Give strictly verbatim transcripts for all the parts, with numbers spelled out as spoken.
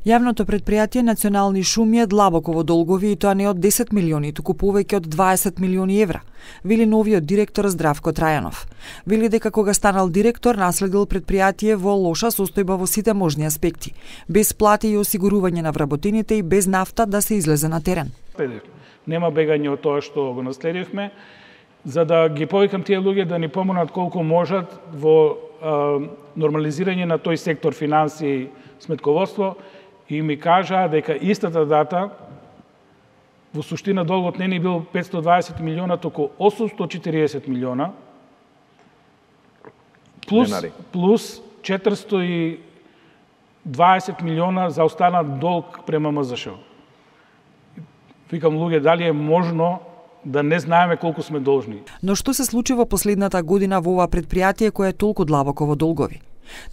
Јавното предпријатие Национални шуми е длабоко во долгови и тоа не од десет милиони, туку повеќе од дваесет милиони евра, вели новиот директор Здравко Трајанов. Вели дека кога станал директор, наследил предпријатие во лоша состојба во сите можни аспекти, без плати и осигурување на вработените и без нафта да се излезе на терен. Нема бегање од тоа што го наследивме, за да ги повикам тие луѓе да ни помогнат колку можат во а, нормализирање на тој сектор финанси и сметководство, и ми кажаа дека истата дата во суштина долгот не ни бил петстотини и дваесет милиона, туку осумстотини и четириесет милиона, плюс, плюс четиристотини и дваесет милиона за останат долг према М З Ш. Викам, луѓе, дали е можно да не знаеме колку сме должни? Но што се случи во последната година во ова предпријатие кое е толку длабоко во долгови?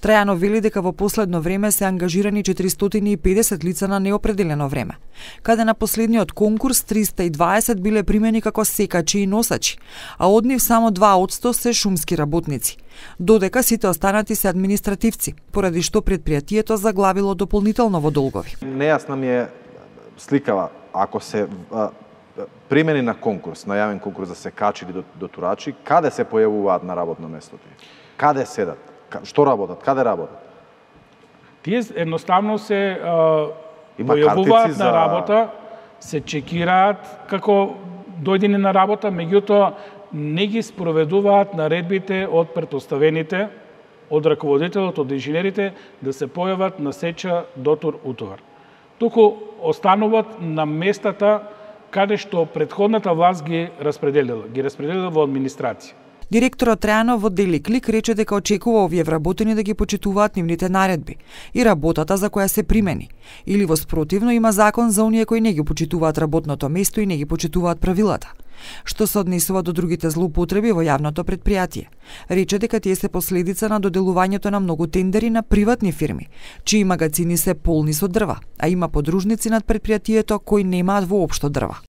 Трајанов вели дека во последно време се ангажирани четиристотини и педесет лица на неопределено време, каде на последниот конкурс триста и дваесет биле примени како секачи и носачи, а од нив само два одсто се шумски работници, додека сите останати се административци, поради што предпријатието заглавило дополнително во долгови. Нејасна ми е сликава, ако се а, примени на конкурс, на јавен конкурс за секачи или дотурачи, каде се појавуваат на работно место? Каде седат? Што работат? Каде работат? Тие едноставно се а, појавуваат за... на работа, се чекираат како дојдени на работа, меѓутоа не ги спроведуваат наредбите од претпоставените, од раководителот, од инженерите, да се појават на сеча, дотур, утовар. Туку остануваат на местата каде што претходната власт ги распределила, ги распределила во администрација. Директорот Трајанов во Дели Клик рече дека очекува овие вработени да ги почитуваат нивните наредби и работата за која се примени, или во спротивно има закон за оние кои не ги почитуваат работното место и не ги почитуваат правилата. Што се однесува до другите злоупотреби во јавното предпријатие, рече дека тие се последица на доделувањето на многу тендери на приватни фирми, чии магазини се полни со дрва, а има подружници над предпријатието кои немаат воопшто дрва.